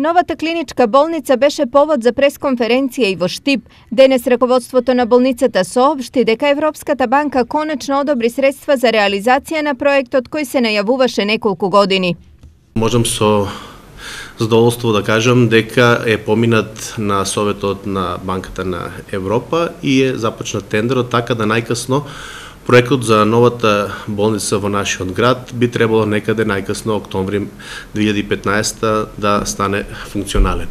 Новата клиничка болница беше повод за пресконференција и во Штип. Денес раководството на болницата соопшти дека Европската банка конечно одобри средства за реализација на проектот кој се најавуваше неколку години. Можам со задоволство да кажам дека е поминат на Советот на Банката на Европа и е започнат тендерот, така да најкасно проектот за новата болница во нашиот град би требало некаде најкасно октомври 2015 да стане функционален.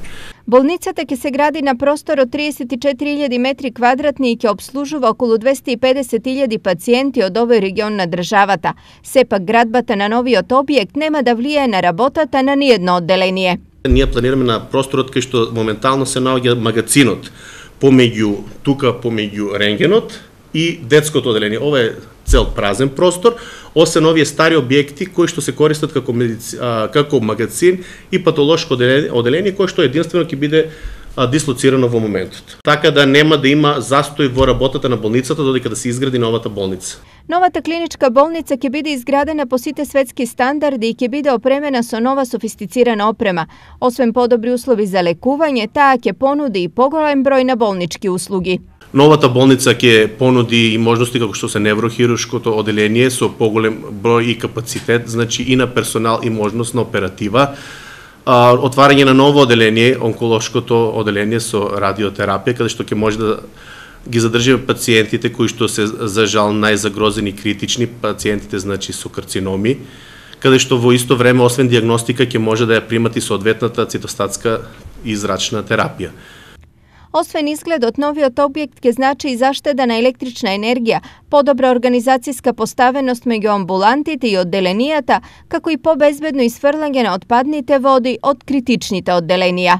Болницата ќе се гради на простор од 34.000 метри квадратни и ќе обслужува околу 250.000 пациенти од овој регион на државата. Сепак градбата на новиот објект нема да влијае на работата на ниедно одделение. Ние планираме на просторот кај што моментално се наоѓа магацинот помеѓу рентгенот и детското одделение. Ова е цел празен простор, освен овие стари објекти кои што се користат како магацин и патолошко одделение кој што единствено ќе биде дислоцирано во моментот. Така да нема да има застој во работата на болницата додека да се изгради новата болница. Новата клиничка болница ќе биде изградена по сите светски стандарди и ќе биде опремена со нова софистицирана опрема. Освен подобри услови за лекување, таа ќе понуди и поголем број на болнички услуги. Новата болница ќе понуди и можности како што се неврохируршкото одделение со поголем број и капацитет, значи и на персонал и можност на оператива. Отварање на ново одделение, онколошкото одделение со радиотерапија, каде што ќе може да ги задржи пациентите кои што се за жал најзагрозени критични, пациентите значи со карциноми, каде што во исто време освен дијагностика ќе може да ја примат и соодветната цитостатска и зрачна терапија. Освен изгледот, новиот објект ќе значи и заштеда на електрична енергија, подобра организацијска поставеност меѓу амбулантите и одделенијата, како и побезбедно исфрлање на отпадните води од критичните одделенија.